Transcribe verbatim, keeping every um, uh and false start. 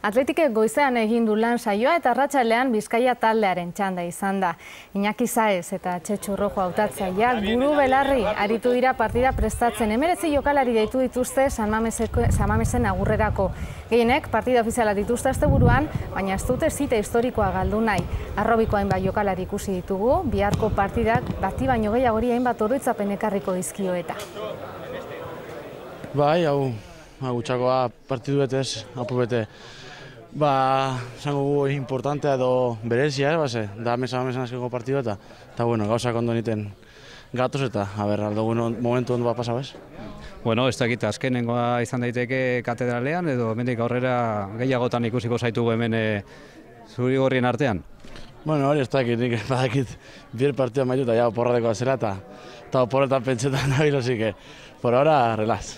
Atletikek goizean egin du lan saioa eta arratsalean Bizkaia taldearen txanda izan da. Iñaki Saez eta Txetxu Rojo hautatzaileak buru belarri aritu dira partida prestatzen. Hemeretzi jokalari deitu dituzte San Mamesen agurrerako. Gehienek partida ofiziala dituzte asteburuan, baina ez dute zita historikoa galdu nahi. Arrobiko hainbat jokalari ikusi ditugu, biharko partidak bati baino gehiagori hainbat oroitzapen ekarriko dizkio eta. Bai, hau, gutxakoa partidu betez, apu bete. Ba, zango gu importantea edo berezia, base, da mesa mesan azkeko partidu eta, eta bueno, gauzak ondo niten gatoz eta, a ber, aldo momentu ondo bat pasa, bez? Bueno, ez dakit, azkenengoa izan daiteke katedralean edo hemendik aurrera gehiagotan ikusiko zaitugu hemen zuri gorrien artean? Bueno, hori ez dakit, nik badakit bier partida maitu eta ja oporradekoa zela eta eta oporretan pentsetan nabil, osik, por ahora, relaz.